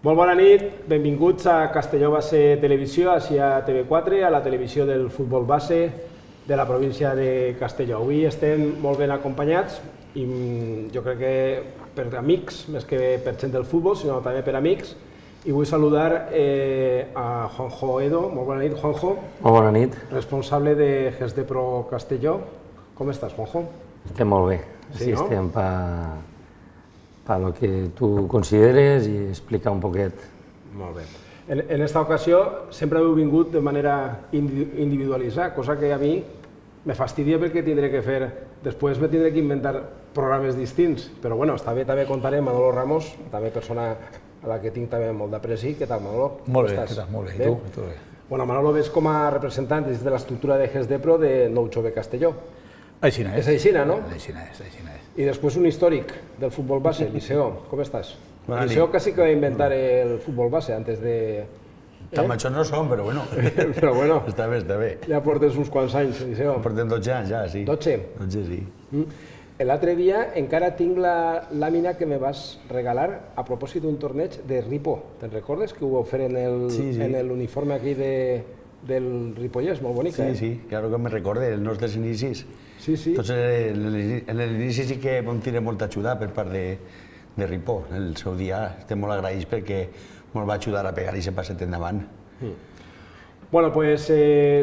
Molt bona nit, benvinguts a Castelló Base Televisió, així a TV4, a la televisió del futbol base de la província de Castelló. Avui estem molt ben acompanyats i jo crec que per amics, més que per gent del futbol, sinó també per amics. I vull saludar a Juanjo Edo. Molt bona nit, Juanjo. Molt bona nit. Responsable de GESDEPRO Castelló. Com estàs, Juanjo? Estem molt bé. Sí, estem per lo que tu consideres i explicar un poquet. Molt bé. En esta ocasió sempre heu vingut de manera individualitzada, cosa que a mi me fastidia perquè tindré que fer, després me tindré que inventar programes distints, però bueno, està bé, també contaré amb Manolo Ramos, també persona a la que tinc també molt d'apreci. Què tal, Manolo? Molt bé, què tal? Molt bé. I tu? Tot bé. Bueno, Manolo ves com a representant des de l'estructura de GESDEPRO de Nou Jove Castelló. Aixina és. És aixina, no? Aixina és. I després un històric del futbol base, Liceo. Com estàs? Liceo casi que va inventar el futbol base antes de... Tan majors no som, però bueno. Però bueno. Està bé, està bé. Ja portes uns quants anys, Liceo. Portem 12 anys ja, sí. 12? 12, sí. L'altre dia encara tinc la làmina que me vas regalar a propòsit d'un torneig de Ripo. Te'n recordes que ho vau fer en l'uniforme aquí del Ripollès? Molt bonica, eh? Sí, claro que me recorde, els nostres inicis. Sí. Entonces, en l'inici sí que vam tenir molta ajuda per part de Ripó. El seu dia estem molt agraïts perquè ens va ajudar a pegar aquest passet endavant. Bueno, doncs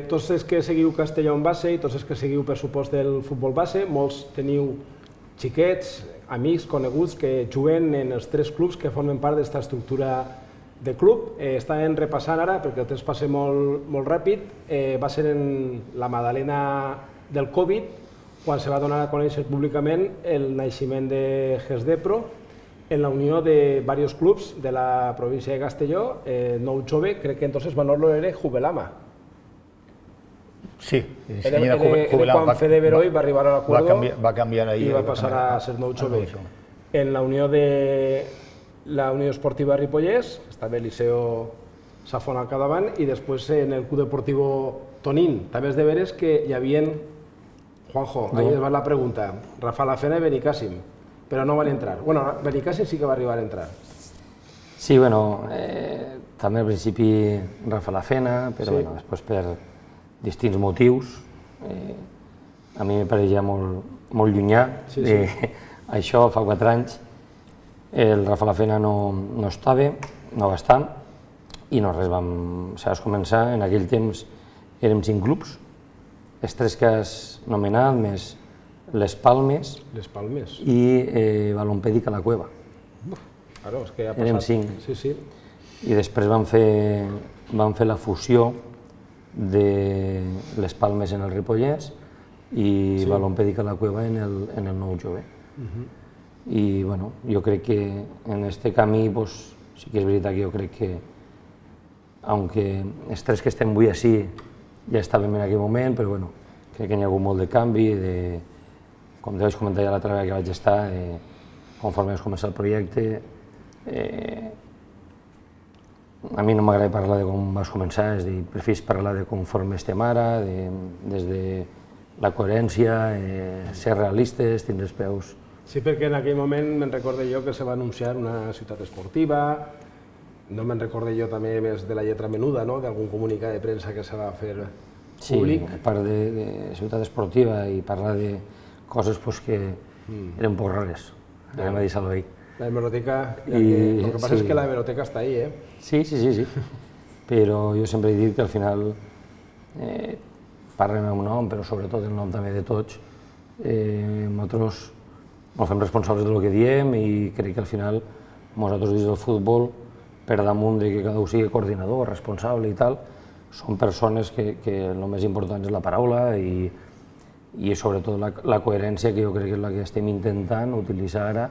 tots els que seguiu Castelló en base i tots els que seguiu, per supost, del futbol base, molts teniu xiquets, amics, coneguts que juguen en els 3 clubs que formen part d'esta estructura de club. Estàvem repassant ara, perquè el temps passa molt ràpid, va ser en la Madalena del Covid, quan se va donar a conèixer públicament el naixement de GESDEPRO en la unió de diversos clubs de la província de Castelló. Nou Jove, crec que entonces Manolo era Jubelama. Sí, era quan Fede Veroy va arribar a l'acuerdo i va passar a ser Nou Jove. En la unió de la Unió Esportiva Ripollès, estava el Liceo Safon al capdavant, i després en el Club Deportivo Tonín. També és de veres que hi havia, Juanjo, ahí es va la pregunta, Rafa Lafena i Benicàssim, però no van entrar. Bueno, Benicàssim sí que va arribar a entrar. Sí, bueno, també al principi Rafa Lafena, però després per distints motius. A mi me pareixia molt llunyà això, fa 4 anys. El Rafa Lafena no estava, no va estar, i no res, vam començar, en aquell temps érem 5 clubs, els 3 que has nomenat, més Les Palmes i Balompèdic a la Cueva. Érem 5. I després vam fer la fusió de Les Palmes en el Ripollès i Balompèdic a la Cueva en el Nou Jove. I bueno, jo crec que en aquest camí sí que és veritat que jo crec que, aunque els 3 que estem avui així ja estàvem en aquell moment, però bueno, crec que hi ha hagut molt de canvi, com te vaig comentar ja l'altra vegada que vaig estar, conforme vas començar el projecte. A mi no m'agrada parlar de com vas començar, és a dir, prefers parlar de conforme estem ara, des de la coherència, ser realistes, tindre els peus. Sí, perquè en aquell moment me'n recorde jo que se va anunciar una ciutat esportiva, no me'n recorde jo també més de la lletra menuda, d'algun comunicat de premsa que se va fer públic. Sí, a part de ciutat esportiva i parlar de coses que eren un poc rares, anem a dir-ho ahí. La hemeroteca, el que passa és que la hemeroteca està ahí, eh? Sí, però jo sempre he dit que al final parlen el meu nom, però sobretot el nom també de tots. Nosaltres ens fem responsables del que diem i crec que al final nosaltres dins del futbol, per damunt que cada un sigui coordinador, responsable i tal, són persones que el més important és la paraula i sobretot la coherència, que jo crec que és la que estem intentant utilitzar ara,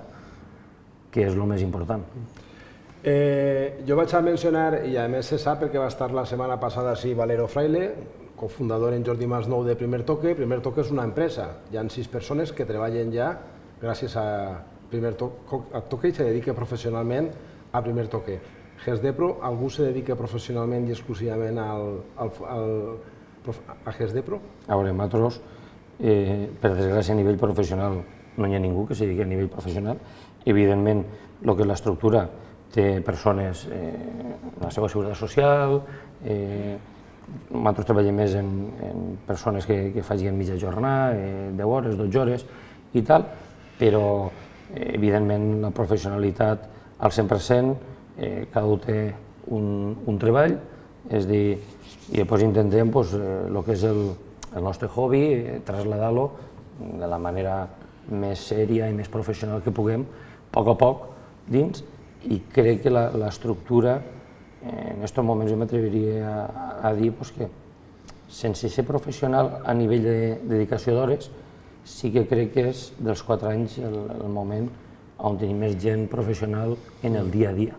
que és el més important. Jo vaig a mencionar, i a més se sap perquè va estar la setmana passada així Valero Fraile, cofundador en Jordi Masnou de Primer Toque. Primer Toque és una empresa, hi ha 6 persones que treballen ja gràcies a Primer Toque i se dedica professionalment a Primer Toque. GESDEPRO, algú se dedica professionalment i exclusivament a GESDEPRO? A veure, nosaltres, per desgràcia, a nivell professional no hi ha ningú que se dediqui a nivell professional. Evidentment, el que és l'estructura té persones en la seva seguretat social, nosaltres treballem més en persones que facin mitja jornada, 10 hores, 12 hores i tal, però evidentment la professionalitat al 100%, cada un té un treball, és a dir, i després intentem el que és el nostre hobby, traslladar-lo de la manera més sèria i més professional que puguem, a poc dins, i crec que l'estructura, en aquests moments jo m'atreviria a dir que sense ser professional a nivell de dedicació d'hores, sí que crec que és dels 4 anys el moment on tenim més gent professional en el dia a dia.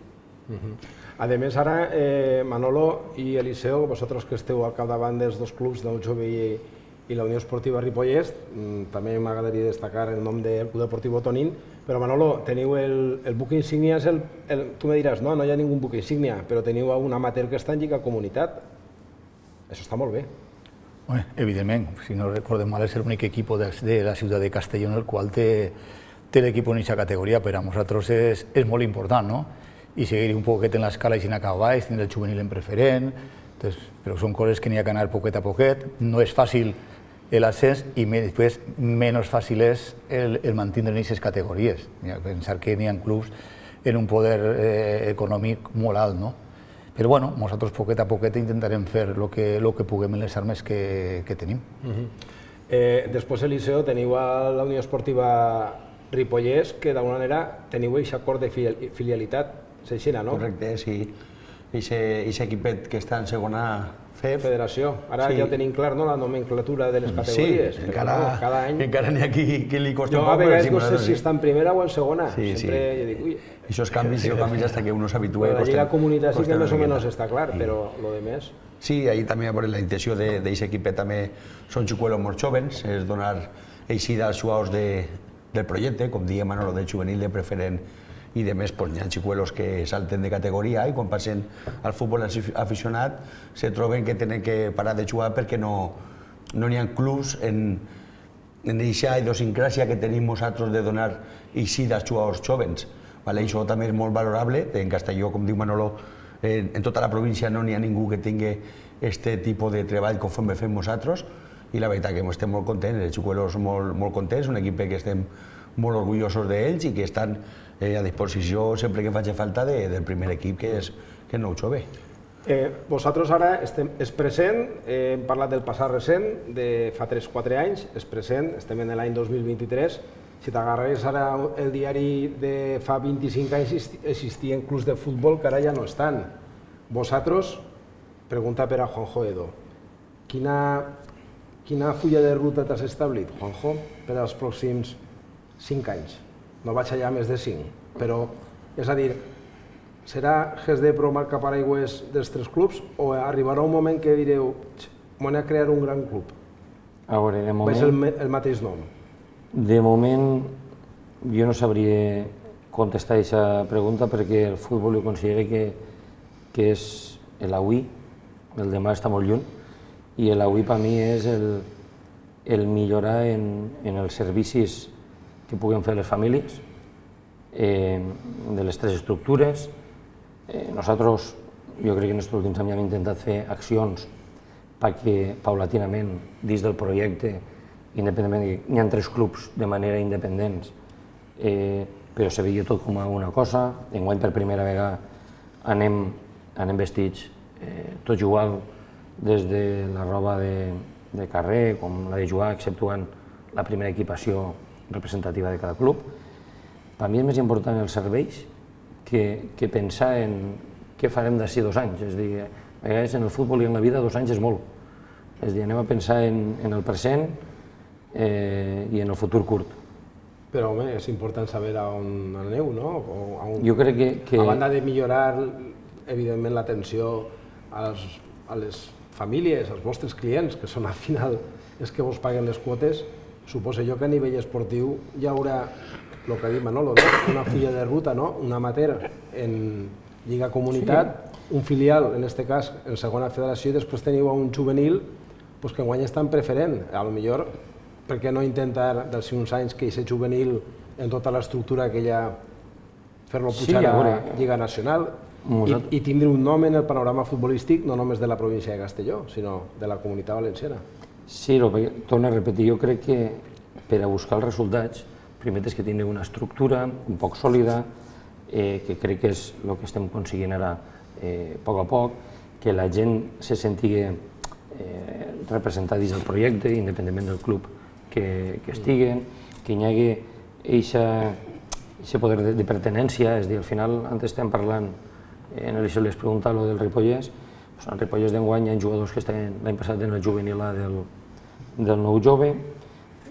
A més, ara, Manolo i Eliseo, vosaltres que esteu al capdavant dels dos clubs, del Jove i la Unió Esportiva Ripollès, també m'agradaria destacar el nom del Club Deportiu Tonín, però Manolo, teniu el buc insígnia, tu me diràs, no hi ha ningú buc insígnia, però teniu un amateur que està en Lliga Comunitat. Això està molt bé. Evidentment, si no recordem mal, és l'únic equip de la ciutat de Castelló en el qual té l'equip en aquesta categoria. Per a nosaltres és molt important, no? I seguir un poquet en l'escala i si anar cap a baix, tindre el juvenil en preferent, però són coses que n'hi ha que anar poquet a poquet. No és fàcil l'ascens i després menys fàcil és el mantindre en aquestes categories. Pensar que n'hi ha clubs en un poder econòmic molt alt, no? Però bueno, nosaltres poquet a poquet intentarem fer el que puguem en les armes que tenim. Després, Eliseo, teniu a la Unió Esportiva Ripollès que d'alguna manera teniu aquest acord de filialitat, s'aixina, no? Correcte, sí. Aquest equipet que està en segona Federació. Ara ja ho tenim clar, no?, la nomenclatura de les categories. Sí, cada any encara n'hi ha qui li costa un poc. Jo a vegades no sé si està en primera o en segona. Sempre dic, ui... Aquests canvis fins que uno s'habitua. La Lliga Comunitat sí que més o menys està clar, però lo de més... Sí, ahir també la intenció d'aquest equipet també són xicuelos molt jóvens, és donar eixida als jugadors del projecte, com diem, Manolo, de juvenil, de preferent i de més, hi ha xicuelos que salten de categoria i quan passen al futbol aficionat se troben que tenen que parar de jugar perquè no n'hi ha clubs en aquesta idiosincràsia que tenim nosaltres de donar eixida als jugadors jóvens. Això també és molt valorable. En Castelló, com diu Manolo, en tota la província no n'hi ha ningú que tingui aquest tipus de treball com fem nosaltres i la veritat que estem molt contents, els xicuelos molt contents, un equip que estem molt orgullosos d'ells i que estan a disposició sempre que faci falta del primer equip que és nou jove. Vosaltres ara és present, hem parlat del passat recent, de fa 3-4 anys, és present, estem en l'any 2023. Si t'agarres ara el diari de fa 25 anys existien clubs de futbol que ara ja no estan. Vosaltres, pregunta per a Juanjo Edo, quina fulla de ruta t'has establit, Juanjo, per als pròxims 5 anys? No vaig allà més de 5, però, és a dir, serà GESD Pro marca paraigües dels 3 clubs o arribarà un moment que direu m'ho a crear un gran club? A veure, de moment... És el mateix nom? De moment, jo no sabria contestar aquesta pregunta perquè el futbol jo considero que és l'avui, el demà està molt lluny, i l'avui per mi és el millorar en els servicis que puguem fer les famílies, de les 3 estructures. Nosaltres, jo crec que en aquests últims anys hem intentat fer accions perquè, paulatinament, dins del projecte, independentment, n'hi ha 3 clubs de manera independents, però se veia tot com a una cosa. Enguany, per primera vegada, anem vestits tots igual, des de la roba de carrer, com la de jugar, exceptuant la primera equipació representativa de cada club. Per mi és més important els serveis que pensar en què farem d'ací 2 anys. És a dir, a vegades en el futbol i en la vida 2 anys és molt. És a dir, anem a pensar en el present i en el futur curt. Però, home, és important saber a on aneu, no? Jo crec que... A banda de millorar, evidentment, l'atenció a les famílies, als vostres clients, que són al final els que vos paguen les quotes, suposo jo que a nivell esportiu hi haurà, el que ha dit Manolo, una fulla de ruta, un amateur en Lliga Comunitat, un filial, en aquest cas, en segona federació, i després teniu un juvenil que enguany està en preferent. Potser, per què no intentar, dels uns anys, que aquest juvenil, en tota l'estructura que hi ha fer-lo pujar a Lliga Nacional i tindre un nom en el panorama futbolístic no només de la província de Castelló, sinó de la Comunitat Valenciana. Sí, torno a repetir, jo crec que per a buscar els resultats, primer és que tingui una estructura un poc sòlida, que crec que és el que estem aconseguint ara a poc, que la gent se sentigui representada dins del projecte, independentment del club que estiguen, que hi hagi aquest poder de pertinència, és a dir, al final, antes estem parlant, en això les preguntava del Ripollès, al Ripollès d'enguany hi ha jugadors que estaven l'any passat en el juvenil A del nou jove,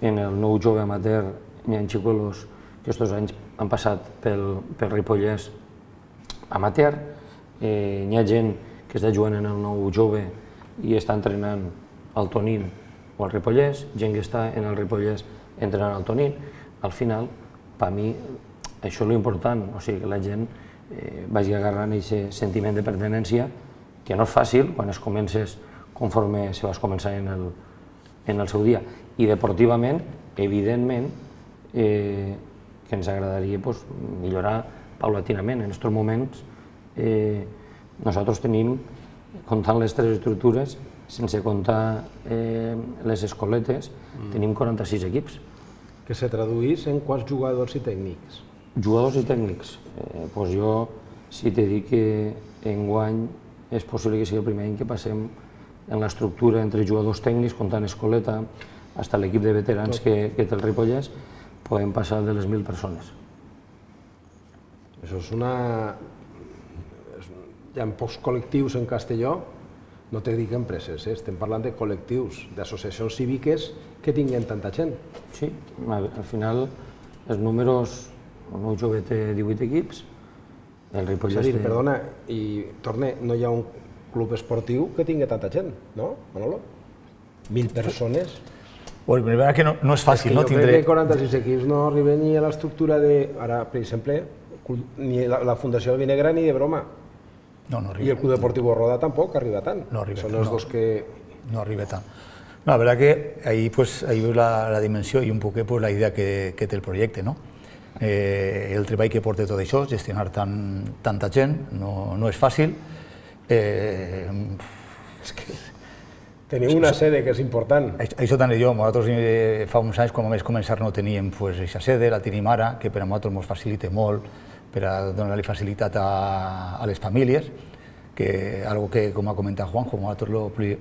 en el nou jove amateur hi ha xicolos que aquests anys han passat pel Ripollès amateur, hi ha gent que està jugant en el nou jove i està entrenant al Tonín o al Ripollès, gent que està en el Ripollès entrenant al Tonín. Al final, per mi, això és l'important, o sigui, que la gent vagi agarrant aquest sentiment de pertinència, que no és fàcil quan es comences conforme se vas començar en el seu dia. I deportivament, evidentment, que ens agradaria millorar paulatinament. En aquests moments nosaltres tenim, comptant les tres estructures, sense comptar les escoletes, tenim 46 equips. Que se traduís en quants jugadors i tècnics? Jugadors i tècnics? Jo, si t'he dit que enguany és possible que sigui el primer any que passem en l'estructura entre jugadors tècnics, comptant escoleta, fins a l'equip de veterans que té el Ripollès, podem passar de les 1.000 persones. Això és una... Hi ha pocs col·lectius en Castelló, no te dic empreses, estem parlant de col·lectius, d'associacions cíviques que tinguin tanta gent. Sí, al final els números, el nou jove té 18 equips, el Ripollès té... Perdona, i torne, no hi ha un club esportiu que tingui tanta gent, no, Manolo? 1.000 persones. Bueno, la veritat que no és fàcil, no? Jo crec que 46 equips no arriben ni a l'estructura de... Ara, per exemple, ni la Fundació del Vinegra ni de broma. No arriba. I el Club Deportiu Roda tampoc arriba tant. No arriba tant. Són els dos que... No arriba tant. La verdad que ahí veu la dimensió i un poc la idea que té el projecte, no? El treball que porta tot això, gestionar tanta gent, no és fàcil. Teniu una sede que és important. Això tant jo, nosaltres fa uns anys quan vam començar no teníem aquesta sede, la tenim ara, que per a nosaltres ens facilita molt per a donar-li facilitat a les famílies, que algo que, com ha comentat Juanjo, nosaltres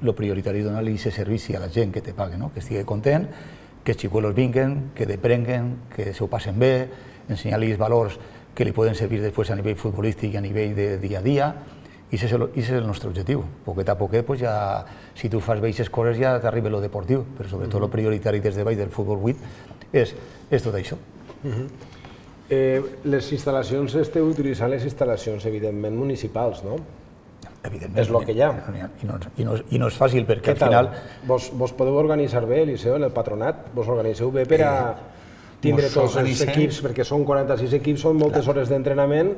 lo prioritari és donar-li aquest servici a la gent que te pague, que estigui content, que els xicuelos vinguen, que deprenguen, que s'ho passen bé, ensenyar-los valors que li poden servir després a nivell futbolístic i a nivell de dia a dia, i aquest és el nostre objectiu. Poquet a poquet, si tu fas bé aquestes coses ja t'arriba lo deportiu, però sobretot lo prioritari des de baix del futbol 8 és tot això. Les instal·lacions, esteu utilitzant les instal·lacions, evidentment, municipals, no? Evidentment. És el que hi ha. I no és fàcil, perquè al final... Vos podeu organitzar bé, Eliseo, en el patronat? Vos organiseu bé per a tindre tots els equips, perquè són 46 equips, són moltes hores d'entrenament.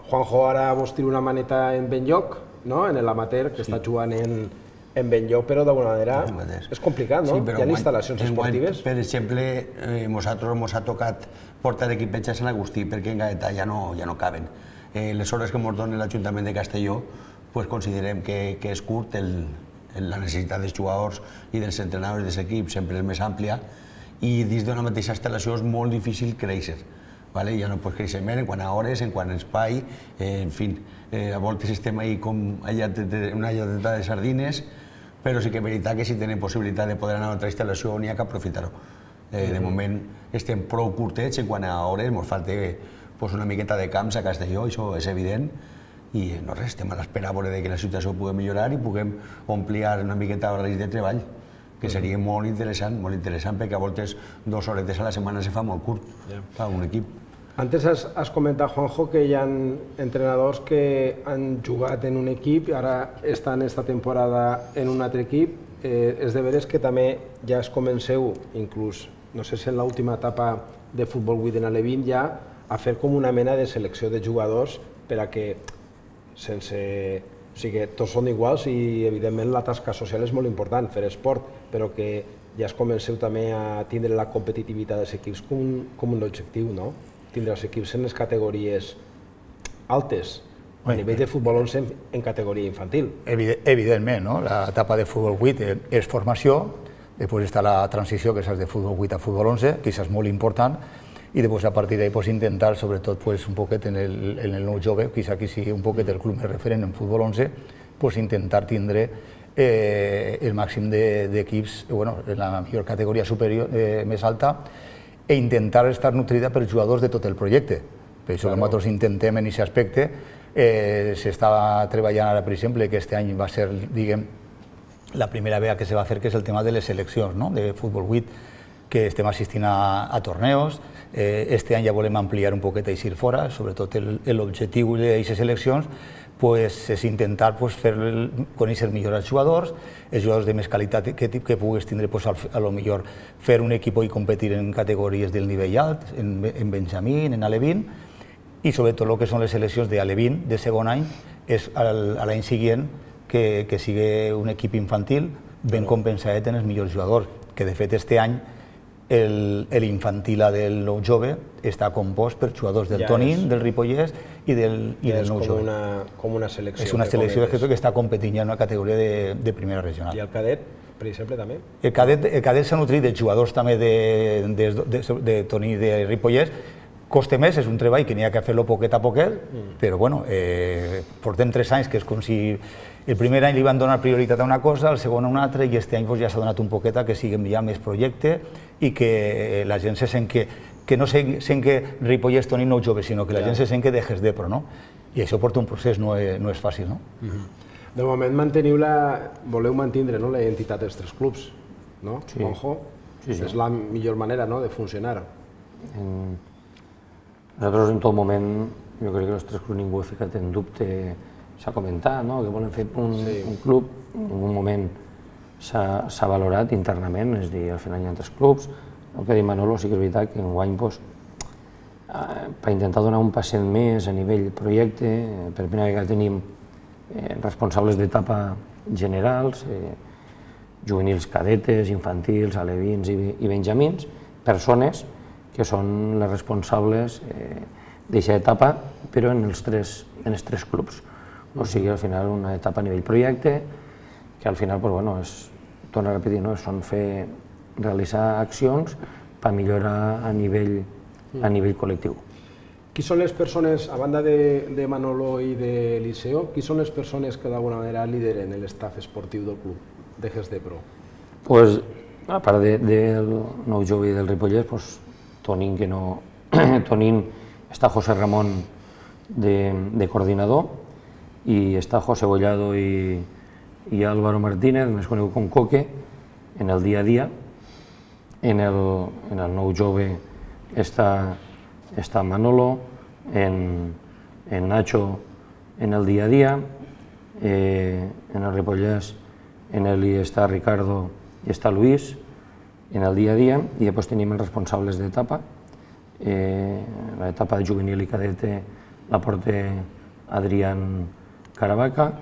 Juanjo ara vos tira una maneta en ben lloc, en l'amateur, que està jugant en ben lloc, però d'alguna manera és complicat, no? Hi ha instal·lacions esportives. Per exemple, nosaltres ens ha tocat portar equipets a Sant Agustí, perquè en Gaeta ja no caben. Les hores que ens dona l'Ajuntament de Castelló, considerem que és curt, la necessitat dels jugadors i dels entrenadors dels equips sempre és més àmplia, i dins d'una mateixa instal·lació és molt difícil créixer. Ja no pots créixer més en quant a hores, en quant a espai, en fi, a voltes estem ahí com una lladeta de sardines, però sí que és veritat que si tenim possibilitat de poder anar a una altra instal·lació n'hi ha que aprofitar-ho. De moment estem prou curtets en quant a hores, ens falta una miqueta de camps a Castelló, això és evident, i no res, estem a l'espera que la situació pugui millorar i puguem ampliar una miqueta horaris de treball, que seria molt interessant, perquè a voltes 2 horetes a la setmana se fa molt curt per un equip. Antes has comentat, Juanjo, que hi ha entrenadors que han jugat en un equip i ara estan esta temporada en un altre equip. És de veres que també ja es comenceu, inclús, no sé si en l'última etapa de Futbol 8 en l'E20, ja a fer com una mena de selecció de jugadors per a que tots són iguals i, evidentment, la tasca social és molt important, fer esport, però que ja es comenceu també a tindre la competitivitat dels equips com un objectiu, no? tindre els equips en les categories altes, a nivell de futbol 11 en categoria infantil. Evidentment, no? L'etapa de futbol 8 és formació, després està la transició, que és de futbol 8 a futbol 11, que és molt important, i després a partir d'ahí intentar, sobretot un poquet en el nou jove, quizá que sigui un poquet el club més referent en futbol 11, intentar tindre el màxim d'equips en la millor categoria superior més alta i intentar estar nutrida per jugadors de tot el projecte. Per això que nosaltres intentem en aquest aspecte. S'està treballant ara, per exemple, que aquest any va ser, diguem, la primera vegada que se va fer, que és el tema de les seleccions de futbol 8, que estem assistint a torneos. Este any ja volem ampliar un poquet a eixir fora, sobretot l'objectiu d'aquestes seleccions és intentar fer conèixer millor els jugadors de més qualitat que puguis tindre, a lo millor fer un equip i competir en categories del nivell alt, en Benjamín, en Alevín, i sobretot el que són les seleccions d'Alevín de segon any, és a l'any següent que sigui un equip infantil ben compensat en els millors jugadors, que de fet este any l'infantil del nou jove està compost per jugadors del Tonín, del Ripollès i del nou jove. És com una selecció. És una selecció que està competint en una categoria de primera regional. I el cadet, per exemple, també? El cadet s'ha nutrit de jugadors també de Toní i de Ripollès. Costa més, és un treball que n'hi ha que fer-lo poquet a poquet, però portem 3 anys, que és com si el primer any li van donar prioritat a una cosa, el segon a una altra, i aquest any ja s'ha donat un poquet a que siguem ja més projecte i que la gent se sent que no sent que Ripollès Toní nou jove, sinó que la gent se sent que dejes d'Epro, no? I això porta un procés, no és fàcil, no? De moment voleu mantenir la identitat dels 3 clubs, no, Juanjo? És la millor manera de funcionar. Nosaltres en tot moment, jo crec que els 3 clubs ningú ha ficat en dubte, s'ha comentat que volen fer un club, en un moment s'ha valorat internament, és a dir, al final hi ha 3 clubs. El que ha dit Manolo sí que és veritat que enguany, per intentar donar un passet més a nivell projecte, per primera vegada tenim responsables d'etapa generals, juvenils cadetes, infantils, alevins i benjamins, persones que són les responsables d'aquesta etapa, però en els 3 clubs. O sigui, al final, una etapa a nivell projecte, que al final, torno a repetir, són realitzar accions per millorar a nivell col·lectiu. Qui són les persones, a banda de Manolo i d'Eliseo, qui són les persones que d'alguna manera lideren l'estaf esportiu del club de GES d'Epro? A part del nou jove i del Ripollès, Tonín està José Ramon de coordinador i està José Bollado i Álvaro Martínez, més conegut com Coque, en el dia a dia. En el nou jove està Manolo, en Nacho en el dia a dia, en el Ripollès en el està Ricardo i està Luis en el dia a dia, i després tenim els responsables d'etapa. L'etapa de juvenil i cadete la porta Adrián Caravaca,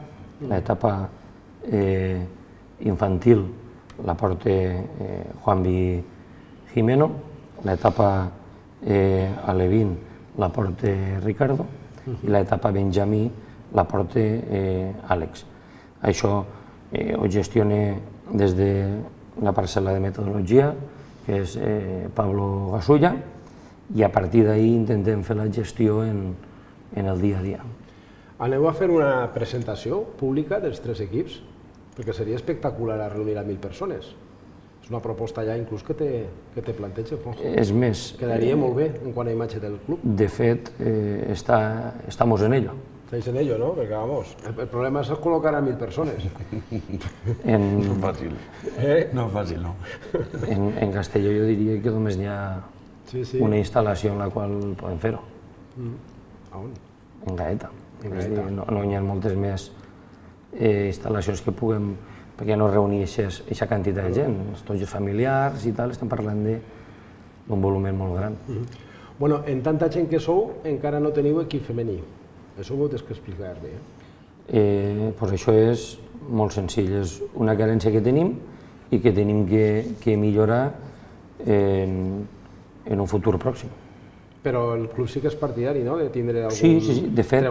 l'etapa infantil la porta Juanvi Jimeno, l'etapa alevín la porta Ricardo i l'etapa benjamí la porta Àlex. Això ho gestiona des de la parcel·la de metodologia, que és Pablo Gasulla, i a partir d'ahir intentem fer la gestió en el dia a dia. Aneu a fer una presentació pública dels 3 equips? Perquè seria espectacular a reunir a 1.000 persones. És una proposta ja inclús que te planteja, Juanjo. És més... Quedaria molt bé en quant a imatge del club. De fet, estamos en ello. Estáis en ello, ¿no? Perquè, vamos, el problema es col·locar a 1.000 persones. No és fàcil. No és fàcil, no. En Castelló jo diria que només n'hi ha una instal·lació en la qual podem fer-ho. A on? En Gaeta. No hi ha moltes més instal·lacions que puguem, perquè no reunir aquesta quantitat de gent. Tots els familiars i tal, estem parlant d'un volum molt gran. Bueno, en tanta gent que sou, encara no teniu equip femení. Això ho heu d'explicar bé. Doncs això és molt senzill, és una carència que tenim i que tenim que millorar en un futur pròxim. Però el club sí que és partidari, no?, de tindre algun... Sí, de fet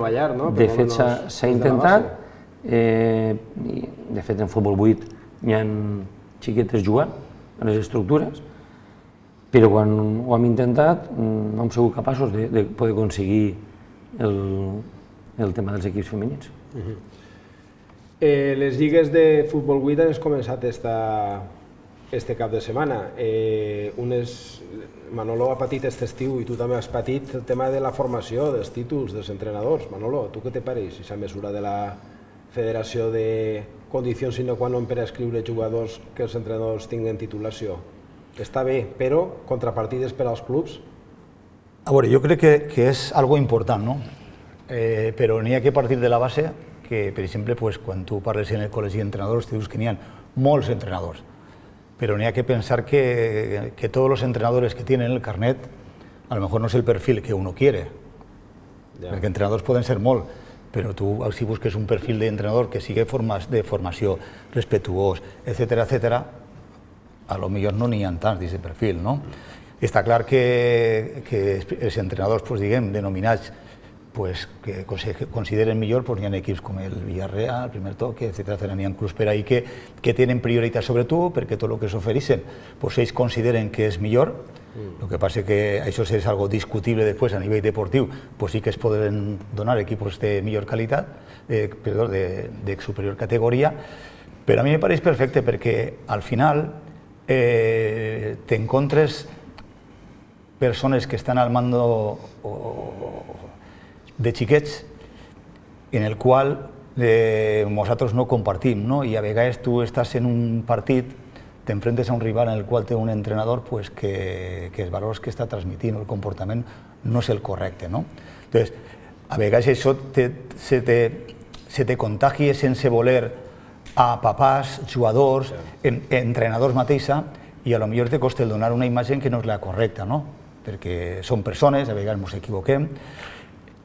s'ha intentat. De fet, en futbol 8 hi ha xiquetes jugant a les estructures, però quan ho hem intentat no hem sigut capaços de poder aconseguir el tema dels equips femenins. Les lligues de futbol 8 han començat este cap de setmana. Manolo ha patit aquest estiu i tu també has patit el tema de la formació, dels títols, dels entrenadors. Manolo, tu què te pareix aquesta mesura de la Federació de condicions sine qua non per a escriure jugadors que els entrenadors tinguin titulació? Està bé, però contrapartides per als clubs? A veure, jo crec que és algo important, no? Però n'hi ha que partir de la base que, per exemple, quan tu parles en el col·legi d'entrenadors, te dius que n'hi ha molts entrenadors, pero ni hay que pensar que todos los entrenadores que tienen el carnet a lo mejor no es el perfil que uno quiere, porque entrenadors poden ser molt, però tu si busques un perfil d'entrenador que sigui de formació, respetuós, etcètera, etcètera, a lo millor no n'hi ha tants d'aquest perfil, no? Està clar que els entrenadors, diguem, denominats que consideren millor, n'hi ha equips com el Villarreal, el Primer Toque, etcètera, n'hi ha clubs per ahí que tenen prioritat sobre tu, perquè tot el que s'ofereixen ells consideren que és millor. El que passa que això és algo discutible després a nivell deportiu, sí que es poden donar equipos de millor qualitat, de superior categoria, però a mi me pareix perfecte perquè al final t'encontres persones que estan al mando de xiquets en el qual nosaltres no compartim, i a vegades tu estàs en un partit, t'enfrentes a un rival en el qual té un entrenador que els valors que està transmitint o el comportament no és el correcte. Entonces, a vegades això se te contagia sense voler a papàs, jugadors, entrenadors mateixa, i a lo millor te costa donar una imatge que no és la correcta, perquè són persones, a vegades ens equivoquem.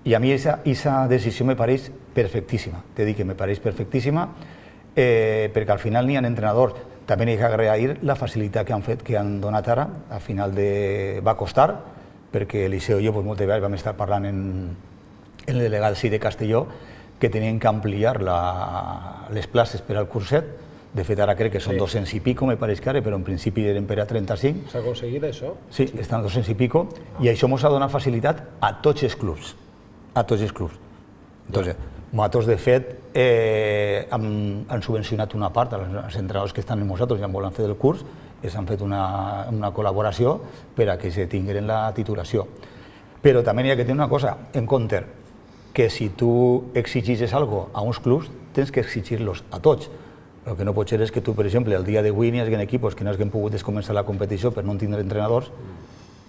I a mi aquesta decisió me pareix perfectíssima, t'he dit que me pareix perfectíssima, perquè al final n'hi ha entrenadors. També n'hi ha que agrair la facilitat que han donat ara, al final va costar, perquè Eliseo i jo moltes vegades vam estar parlant en el delegat de Castelló, que tenien que ampliar les places per al curset. De fet, ara crec que són 200 i pico, me pareix que ara, però en principi eren per a 35. S'ha aconseguit això? Sí, estan 200 i pico, i això ens ha donat facilitat a tots els clubs. A tots els clubs. Nosaltres, de fet, han subvencionat una part, els entrenadors que estan amb nosaltres ja volen fer el curs, han fet una col·laboració per a que se tinguin la titulació. Però també hi ha que tenir una cosa en compte, que si tu exigeixes alguna cosa a uns clubs, tens que exigir-los a tots. El que no pot ser és que tu, per exemple, el dia d'avui n'hi hagi equips que no hagin pogut començar la competició per no tindre entrenadors,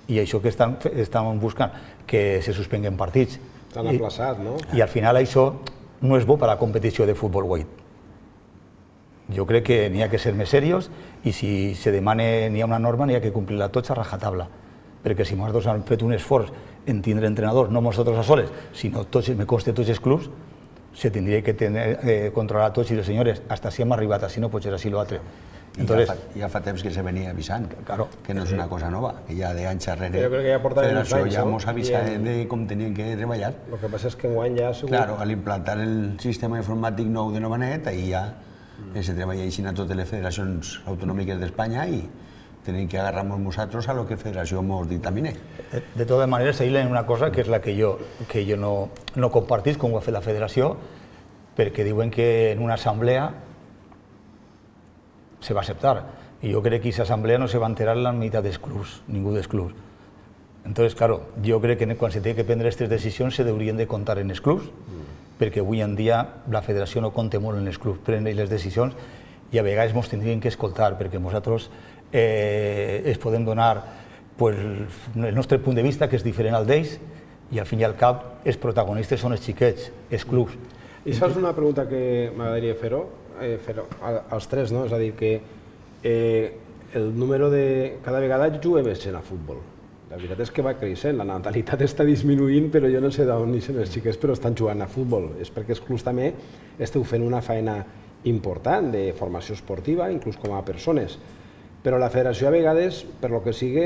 i això que estan buscant, que se suspenguen partits. T'han aplaçat, no? I al final això no és bo per a la competició de futbol 8. Jo crec que n'hi ha que ser més serios, i si se demana, n'hi ha una norma, n'hi ha que complir-la tots a rajatabla. Perquè si nosaltres hem fet un esforç en tindre entrenadors, no nosaltres a soles, sinó me consta tots els clubs, se tindria que controlar tots i dir, senyores, hasta si hem arribat, així no pot ser així l'altre. Ja fa temps que se venia avisant, que no és una cosa nova, que ja d'anys darrere la Federació ja ens avisava de com tenien que treballar. El que passa és que enguany ja... Claro, al implantar el sistema informàtic nou de Novanet, ahir ja se treballa així a totes les federacions autonòmiques d'Espanya i tenim que agarrar-nos nosaltres a lo que Federació ens dictamine. De totes maneres, ahir hi ha una cosa que és la que jo no compartís, com ho ha fet la Federació, perquè diuen que en una assemblea se va acceptar. I jo crec que aquesta assemblea no se va enterar la meitat dels clubs, ningú dels clubs. Entonces, claro, jo crec que quan se té que prendre aquestes decisions se haurien de comptar en els clubs, perquè avui en dia la federació no compta molt en els clubs, prenen les decisions i a vegades ens tindrien que escoltar, perquè nosaltres es podem donar el nostre punt de vista, que és diferent al d'ells, i al fin i al cap els protagonistes són els xiquets, els clubs. I això és una pregunta que m'agradaria fer-ho als tres, no? És a dir, que el número de... Cada vegada juguem més gent a futbol. La veritat és que va creixent, la natalitat està disminuint, però jo no sé d'on neixen els xiquets, però estan jugant a futbol. És perquè els clubs també esteu fent una feina important de formació esportiva, inclús com a persones. Però la federació a vegades, per lo que sigui,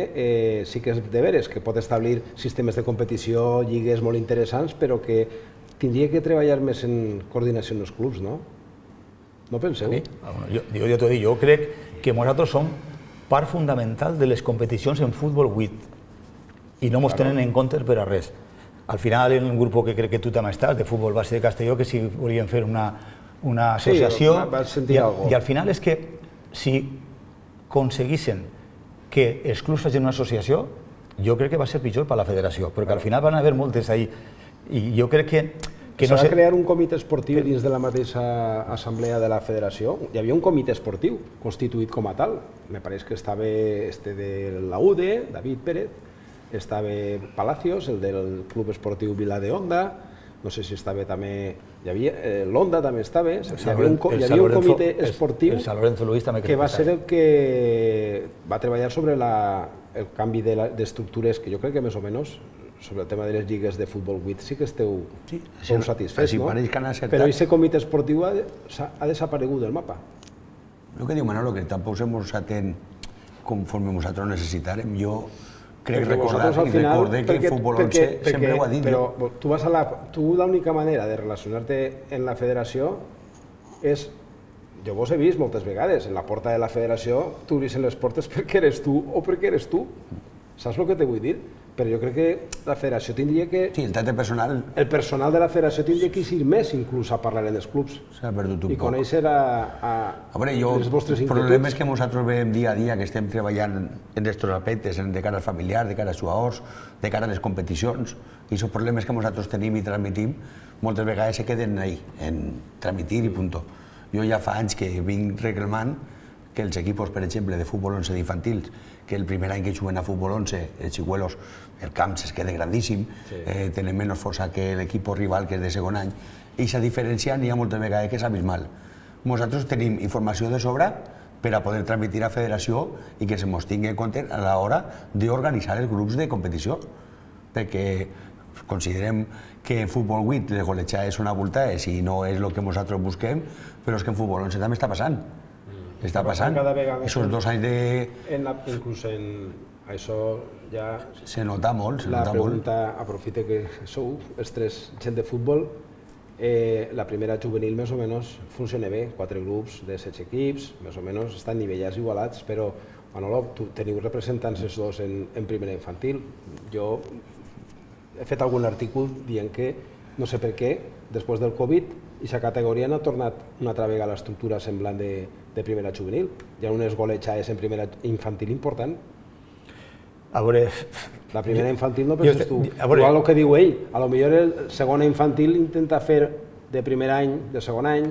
sí que és de veres, que pot establir sistemes de competició, lligues molt interessants, però que tindria que treballar més en coordinació amb els clubs, no? No penseu? Jo t'ho dic, jo crec que nosaltres som part fundamental de les competicions en futbol 8 i no ens tenen en compte per a res. Al final, en un grup que crec que tu també estàs, de futbol base de Castelló, que si volien fer una associació, i al final és que si aconseguissin que els clubs facin una associació, jo crec que va ser pitjor per a la federació, perquè al final van haver moltes ahí, i jo crec que s'ha de crear un comitè esportiu dins de la mateixa assemblea de la federació. Hi havia un comitè esportiu constituït com a tal. Me pareix que estava de la UDE, David Pérez, estava Palacios, el del Club Esportiu Vila de Onda, no sé si estava també... L'Onda també estava, hi havia un comitè esportiu que va ser el que va treballar sobre el canvi d'estructures, que jo crec que més o menys sobre el tema de les lligues de futbol 8 sí que esteu satisfets, no? Però aquest comitè esportiu ha desaparegut del mapa. El que diu Manolo, que tampoc se mos atén conforme nosaltres necessitarem. Jo crec recordar que el futbol 11 sempre ho ha dit. Però tu l'única manera de relacionar-te en la federació és, jo vos he vist moltes vegades, en la porta de la federació t'obreixen les portes perquè eres tu o perquè eres tu. Saps el que te vull dir? Però jo crec que la federació tindria que... Sí, el tracte personal... El personal de la federació tindria que ir més inclús a parlar en els clubs. S'ha perdut un poc. I conèixer les vostres inquietuds. El problema és que nosaltres veiem dia a dia que estem treballant en aquests aspectes, de cara al familiar, de cara als jugadors, de cara a les competicions, i els problemes que nosaltres tenim i transmitim moltes vegades se queden ahí, en transmitir i punt. Jo ja fa anys que vinc reclamant que els equipos, per exemple, de futbol 11 d'infantils, que el primer any que juguen a futbol 11, els xicuelos, el camp es queda grandíssim, tenen menys força que l'equip rival, que és de segon any, i aquesta diferència n'hi ha moltes vegades que és abismal. Nosaltres tenim informació de sobre per a poder transmitir a la federació i que se mos tingui en compte a l'hora d'organitzar els grups de competició, perquè considerem que en futbol 8 les golejades són abultades i no és el que nosaltres busquem, però és que en futbol 11 també està passant. Està passant. Aquests 2 anys de... Inclús en això ja... Se nota molt, se La nota molt. pregunta, aprofite que sou els 3 gent de futbol, la primera juvenil més o menys funciona bé, 4 grups de 16 equips, més o menys estan nivellats, igualats, però Manolo, teniu representants els dos en primera infantil. Jo he fet algun article dient que, no sé per què, després del Covid, aquesta categoria no ha tornat una altra vegada a l'estructura semblant de primera juvenil. Hi ha unes golejades en primera infantil important. A veure... La primera infantil no penses tu. Igual el que diu ell, a lo millor el segona infantil intenta fer de primer any, de segon any,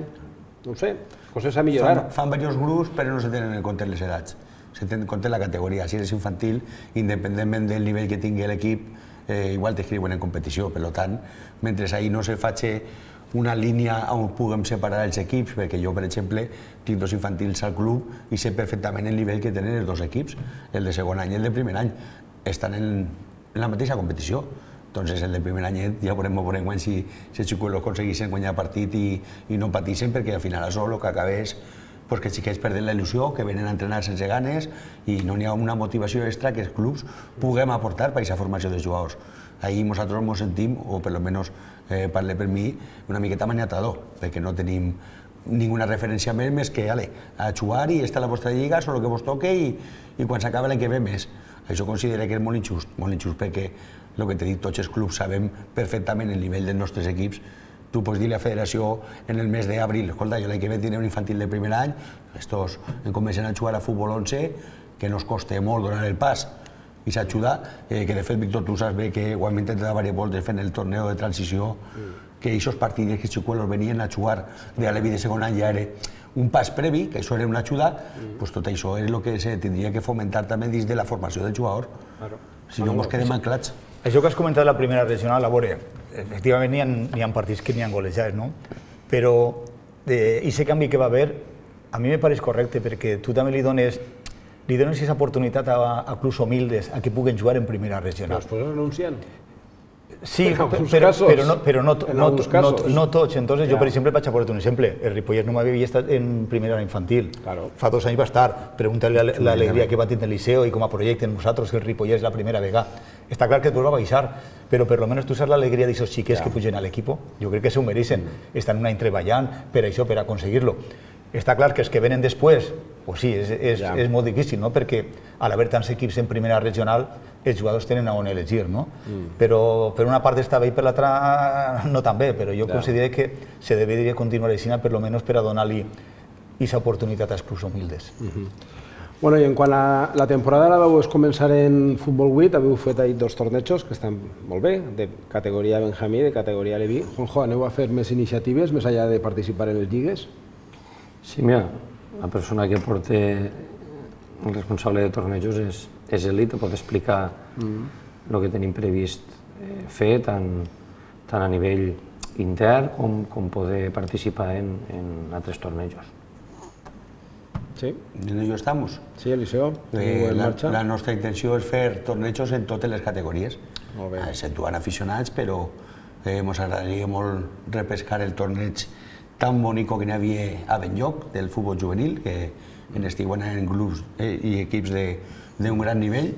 no ho sé, coses a millorar. Fan diversos grups, però no se tenen en compte les edats. Se tenen en compte la categoria. Si eres infantil, independentment del nivell que tingui l'equip, igual t'inscriuen en competició. Per tant, mentre ahir no se faci una línia on puguem separar els equips, perquè jo, per exemple, tinc 2 infantils al club i sé perfectament el nivell que tenen els 2 equips, el de segon any i el de primer any. Estan en la mateixa competició. Entonces, el de primer any ja veurem si els xicuelos aconseguissin guanyar partit i no patissin, perquè al final això el que acaba és que els xiquets perden la il·lusió, que venen a entrenar sense ganes i no hi ha una motivació extra que els clubs puguem aportar per a aquesta formació de jugadors. Ahir nosaltres ens sentim, o per almenys parle per mi, una miqueta maniatador, perquè no tenim ninguna referència més que a jugar i estar a la vostra lliga, és el que vos toque i quan s'acaba l'any que ve més. Això considero que és molt injust perquè el que t'he dit, tots els clubs sabem perfectament el nivell dels nostres equips. Tu pots dir a la federació en el mes d'abril, escolta, jo l'any que ve tindré un infantil de primer any, estos em comencen a jugar a futbol 11, que no es costa molt donar el pas i s'ajuda, que de fet, Víctor, tu saps bé que ho hem intentat diverses voltes fent el torneo de transició, que aquests partits que els xicuelos venien a jugar de alevi de segon any ja era un pas previ, que això era una ajuda, doncs tot això és el que se tindria que fomentar també dins de la formació del jugador, si no ens quedem anclats. Això que has comentat de la primera regional, a veure, efectivament n'hi ha partits que n'hi ha golejats, no? Però aquest canvi que va haver, a mi me pareix correcte, perquè tu també li dones aquesta oportunitat a clubs humildes a que puguen jugar en primera regional. Però després renuncien. Sí, en alguns però casos. no tots. Entonces, jo, Ja. per exemple, vaig a posar un exemple. El Ripollès no m'havia estat en primera infantil. Claro. Fa 2 anys va estar. Pregunta-li l'alegria que va tenir el Liceo i com a projecte nosaltres, que el Ripollès la primera vegada. Està clar que després va baixar, però per almenys tu saps l'alegria d'aquests xiquets que pugen a l'equip. Jo crec que s'ho mereixen. Estan un any treballant per això, per aconseguir-lo. Està clar que els que venen després, pues sí, és molt difícil, no? Perquè a l'haver tants equips en primera regional, els jugadors tenen on elegir, no? Però per una part està bé i per l'altra no tan bé, però jo considero que se deberia continuar així, per almenys per a donar-li aquesta oportunitat als clubs humildes. Bueno, i en quant a la temporada la vau començar en Futbol 8, haveu fet ahí 2 tornejos que estan molt bé, de categoria Benjamí i de categoria Leví. Juanjo, aneu a fer més iniciatives, més enllà de participar en les lligues? Sí, mira, la persona que porta el responsable de tornejos és ell i te pot explicar el que tenim previst fer, tant a nivell intern com poder participar en altres tornejos. Sí. En ello estamos. Sí, Eliseo, en marxa? La nostra intenció és fer tornejos en totes les categories, Molt bé. exceptuant aficionats, però ens agradaria molt repescar el torneig tan bonico que n'hi havia a Benlloc, del futbol juvenil, que en estiuen en grups i equips d'un gran nivell.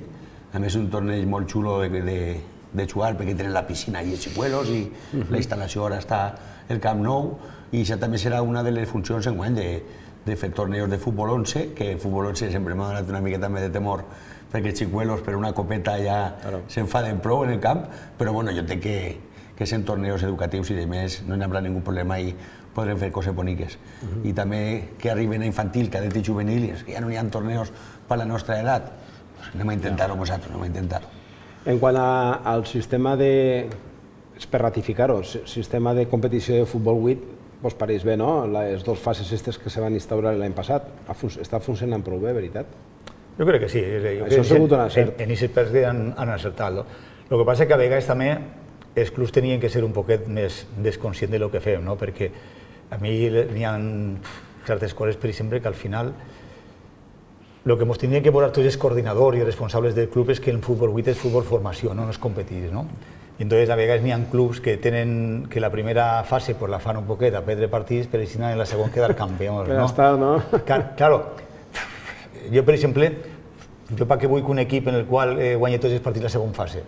A més, un torneig molt xulo de jugar, perquè tenen la piscina i els xicuelos, i la instal·lació ara està el Camp Nou, i això també serà una de les funcions enguany de fer tornejos de futbol 11, que futbol 11 sempre m'ha donat una miqueta més de temor, perquè els xicuelos per una copeta ja s'enfaden prou en el camp, però bueno, jo entenc que són tornejos educatius i, a més, no hi haurà ningú problema i podrem fer coses boniques. I també que arriben a infantil, cadet i juvenil, i és que ja no hi ha tornejos per la nostra edat. Anem a intentar-ho nosaltres, anem a intentar-ho. En quant al sistema de, per ratificar-ho, sistema de competició de Futbol 8, vos pareix bé, no? Les 2 fases aquestes que se van instaurar l'any passat, està funcionant prou bé, veritat? Jo crec que sí. Això ha sigut un encert. En aquest pes han encertat. El que passa és que a vegades també els clubs tenien que ser un poquet més desconscients del que fem, no? Perquè a mi n'hi ha certes coses, per exemple, que al final el que ens tindrien que posar tots els coordinadors i els responsables del club és que el futbol 8 és futbol formació, no és competir, no? I entonces a vegades n'hi ha clubs que tenen que la primera fase pues la fan un poquet a perdre partits, però si no en la segona quedar campions, no? Estar, no? Claro, jo per exemple, jo per què vull que un equip en el qual guanyi tots els partits la segona fase?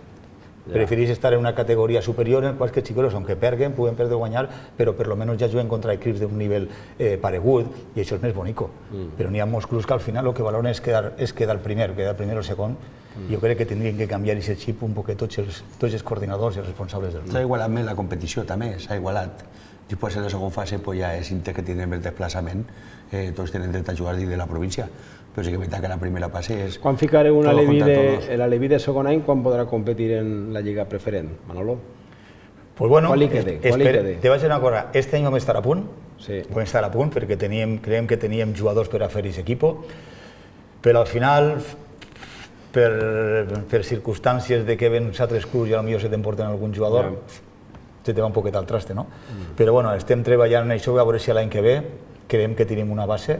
Preferís estar en una categoria superior en quals que els xicolos, aunque perguen, puguen perdre o guanyar, però per lo menos ja juguen contra equips d'un nivell paregut, i això és més bonico. Però n'hi ha molts clubs que al final el que valoren és quedar primer o segon. Jo crec que tindrien que canviar aquest xip un poquet tots els coordinadors i els responsables del club. S'ha igualat més la competició, també, s'ha igualat. Després, en la segona fase, ja és inter que tenen més desplaçament, tots tenen dret a jugar dins de la província. Però sí que és veritat que la primera fase és... Quan ficareu una Leví de segon any, quan podrà competir en la Lliga Preferent, Manolo? Pues bueno, Qual li quede? Te vaig dir una cosa, este any vam estar a punt, vam estar a punt perquè creiem que teníem jugadors per a fer aquest equip, però al final, per circumstàncies de que ven uns altres clubs i potser se t'emporten algun jugador, se te va un poquet al traste, no? Però bueno, estem treballant en això, a veure si l'any que ve creiem que tenim una base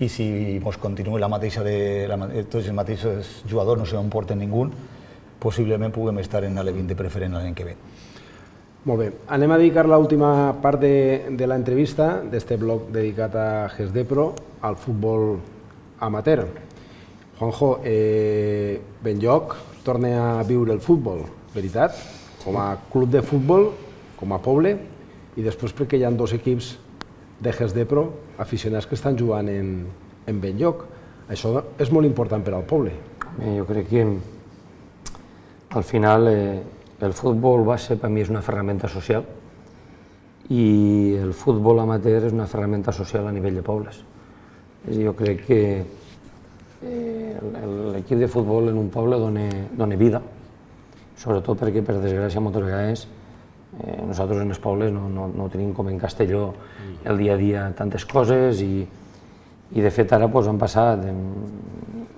i si ens continuï tots els mateixos jugadors, no se n'emporten ningú, possiblement puguem estar en l'E20 de preferent l'any que ve. Molt bé, anem a dedicar l'última part de l'entrevista d'este bloc dedicat a GESDEPRO al futbol amateur. Juanjo, Benlloc torna a viure el futbol, veritat? Com a club de futbol, com a poble, i després perquè hi ha 2 equips de GESDEPRO aficionats que estan jugant en Benlloc. Això és molt important per al poble. Jo crec que al final el futbol base per mi és una ferramenta social i el futbol amateur és una ferramenta social a nivell de pobles. Jo crec que l'equip de futbol en un poble dona vida, sobretot perquè, per desgràcia, moltes vegades nosaltres en els pobles no tenim com en Castelló el dia a dia tantes coses i de fet ara han passat,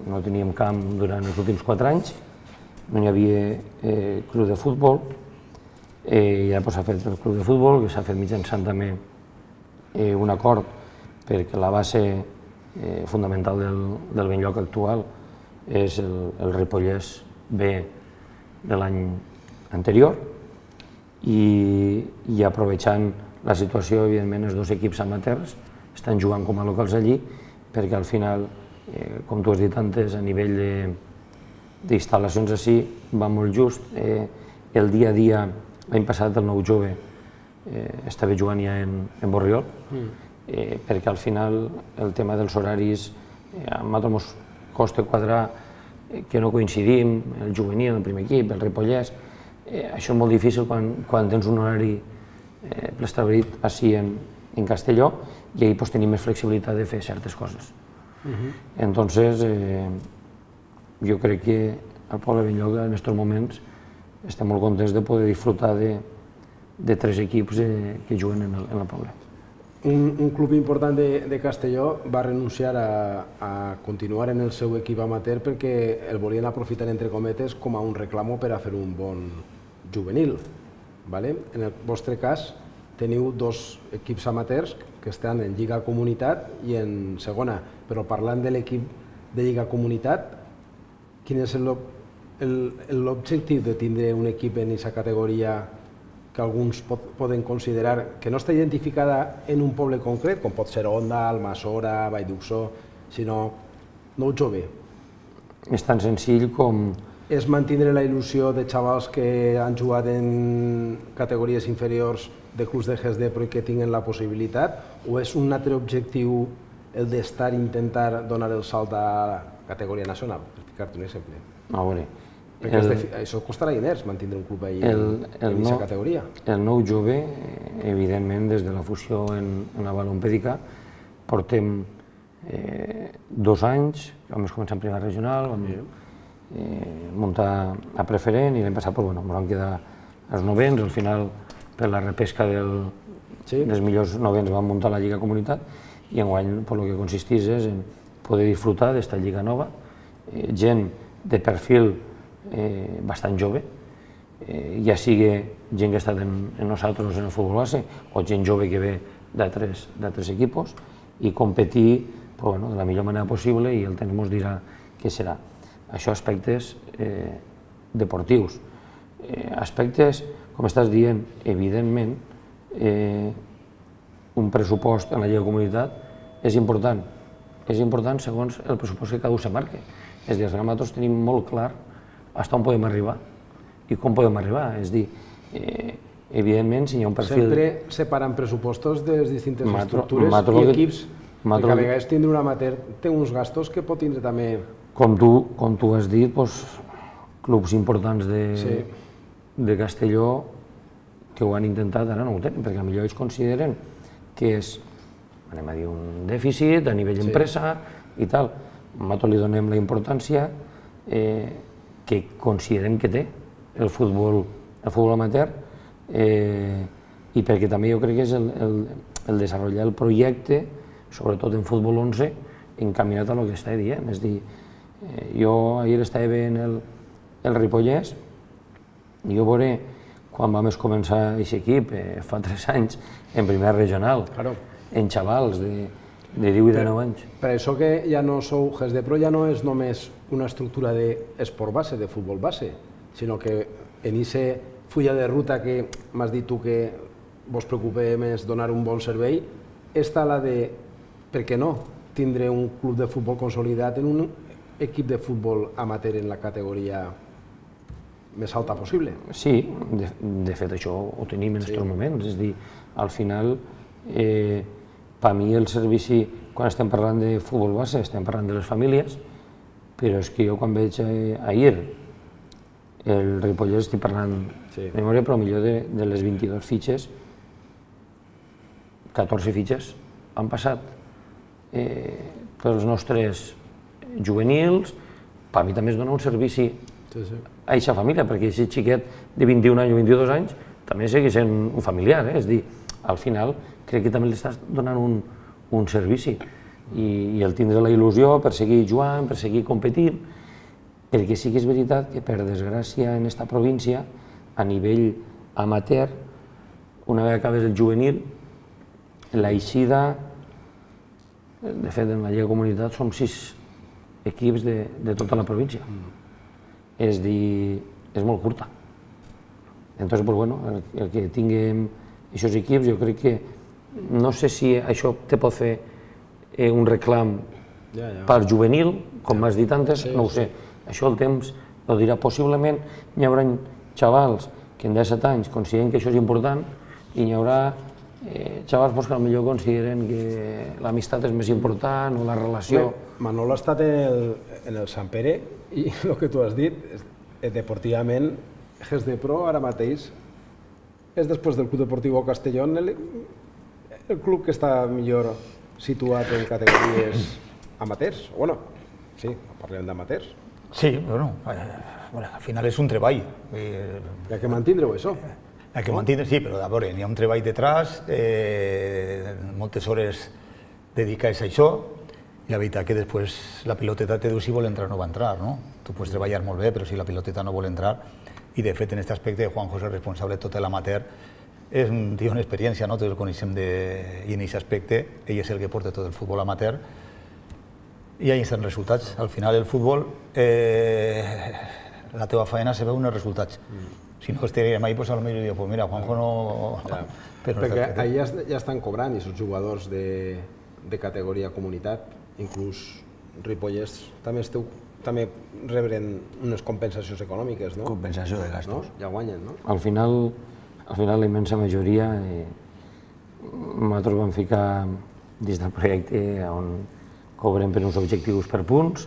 no teníem camp durant els últims 4 anys, no hi havia club de futbol i ara s'ha fet el club de futbol, que s'ha fet mitjançant també un acord perquè la base fundamental del Benlloc actual és el Ripollès B de l'any anterior i aprovechant la situació, evidentment, els dos equips amateurs estan jugant com a locals allí, perquè al final, com tu has dit antes, a nivell d'instal·lacions així va molt just. El dia a dia, l'any passat el nou jove estava jugant ja en Borriol, perquè al final el tema dels horaris a nosaltres ens costa quadrar que no coincidim, el juvenil, el primer equip, el Ripollès. Això és molt difícil quan tens un horari preestablert així en Castelló i ahir tenim més flexibilitat de fer certes coses. Entonces, jo crec que al poble Benlloc en aquests moments estem molt contents de poder disfrutar de tres equips que juguen en el poble. Un club important de Castelló va renunciar a continuar en el seu equip amateur perquè el volien aprofitar, entre cometes, com a un reclamo per a fer un bon juvenil. En el vostre cas, teniu dos equips amateurs que estan en Lliga Comunitat i en segona, però parlant de l'equip de Lliga Comunitat, quin és l'objectiu de tindre un equip en aquesta categoria que alguns poden considerar que no està identificada en un poble concret, com pot ser Onda, Almassora, Vall d'Uxó, sinó nou jove? És tan senzill com... És mantenir la il·lusió de xavals que han jugat en categories inferiors de clubs de GESDEPRO i que tinguen la possibilitat, o és un altre objectiu el d'estar i intentar donar el salt a la categoria nacional? Per ficar-te un exemple. A veure... Perquè això costarà diners, mantenir un club ahí en aquesta categoria. El nou jove, evidentment, des de la fusió en la balompèdica, portem 2 anys, vam començar en primera regional, vam muntar a preferent i l'any passat ens vam quedar als novens, al final per la repesca dels millors novens vam muntar la Lliga Comunitat i enguany el que consisteix és en poder disfrutar d'esta Lliga nova, gent de perfil bastant jove, ja sigui gent que ha estat en nosaltres en el futbol base o gent jove que ve d'altres equipos i competir de la millor manera possible i el temps ens dirà què serà. Això aspectes deportius. Aspectes, com estàs dient, evidentment, un pressupost en la Lliga de Comunitat és important. És important segons el pressupost que cada un se marca. És a dir, nosaltres tenim molt clar fins on podem arribar i com podem arribar. És a dir, evidentment, si hi ha un perfil... Sempre separant pressupostos de les distintes estructures i equips, perquè a vegades tindre un amateur té uns gastos que pot tindre també... Com tu has dit, clubs importants de Castelló que ho han intentat, ara no ho tenen, perquè potser ells consideren que és, anem a dir, un dèficit a nivell empresa i tal. Nosaltres li donem la importància que considerem que té el futbol amateur i perquè també jo crec que és el desenvolupar el projecte, sobretot en futbol 11, encaminat a el que estava dient. És a dir, jo ahir estava veient el Ripollès i jo veuré quan vam començar aquest equip, fa 3 anys, en primera regional, en xavals de 10 i de 9 anys. Per això que ja no sou GESDEPRO, ja no és només una estructura d'esport base, de futbol base, sinó que en aquesta fulla de ruta que m'has dit tu que vos preocupa més donar un bon servei, està la de, per què no, tindre un club de futbol consolidat en un equip de futbol amateur en la categoria més alta possible. Sí, de fet això ho tenim en aquests moments, és a dir, al final, per mi el servici, quan estem parlant de futbol base, estem parlant de les famílies, però és que jo quan veig ahir el Ripollès estic parlant de memòria, però millor de les 22 fitxes, 14 fitxes han passat pels nostres juvenils, per mi també es dona un servici a aquesta família, perquè aquest xiquet de 21 anys o 22 anys també segueix sent un familiar, és a dir, al final crec que també li estàs donant un servici i el tindre la il·lusió per seguir jugant, per seguir competint, perquè sí que és veritat que per desgràcia en aquesta província, a nivell amateur, una vegada acabes el juvenil, l'eixida, de fet en la Lliga Comunitat som 6 equips de tota la província. És dir, és molt curta. Entonces, pues, bueno, el que tinguem aquests equips, jo crec que no sé si això te pot fer un reclam per juvenil, com m'has dit antes, no ho sé. Això el temps ho dirà. Possiblement hi haurà xavals que en 17 anys consideren que això és important i hi haurà xavals que potser consideren que l'amistat és més important o la relació. Manolo ha estat en el Sant Pere i el que tu has dit, deportivament, Gesdepro ara mateix és després del Club Deportiu Castellón el club que està millor situat en categories amateurs. Bueno, sí, parlem d'amateurs. Sí, bueno, al final és un treball. Hi ha que mantindre-ho, això. Hi ha que mantindre, sí, però a veure, hi ha un treball detrás, moltes hores dedicades a això, i la veritat que després la piloteta te diu si vol entrar o no va entrar, no? Tu pots treballar molt bé, però si la piloteta no vol entrar, i de fet en aquest aspecte Juanjo és el responsable de tot l'amateur, és un tio en experiència, no? Tots el coneixem i en aquest aspecte ell és el que porta tot el futbol amateur i ahí estan els resultats. Al final el futbol, la teva feina se veu en els resultats. Si no estaríem ahí, pues a lo millor diria, pues mira, Juanjo no... Perquè allà ja estan cobrant aquests jugadors de categoria comunitat, inclús Ripollès també rebren unes compensacions econòmiques, no? Compensació de gastos. Ja guanyen, no? Al final, la immensa majoria, nosaltres vam ficar dins del projecte on cobrem per uns objectius per punts,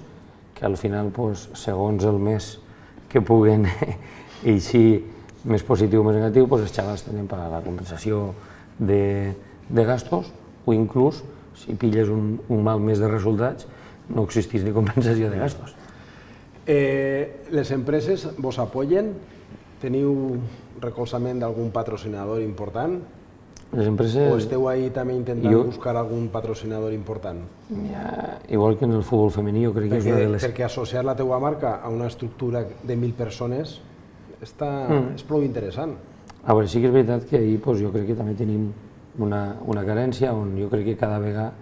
que al final, segons el mes que puguen eixir més positiu o més negatiu, els xavals tenen per la compensació de gastos o inclús, si pilles un mal mes de resultats, no existeix ni compensació de gastos. Les empreses vos apoyen? Teniu recolzament d'algun patrocinador important? Les empreses... O esteu ahí també intentant buscar algun patrocinador important? Igual que en el futbol femení, jo crec que és una de les... Perquè associar la teua marca a una estructura de 1.000 persones és prou interessant. A veure, sí que és veritat que ahir jo crec que també tenim una carència on jo crec que cada vegada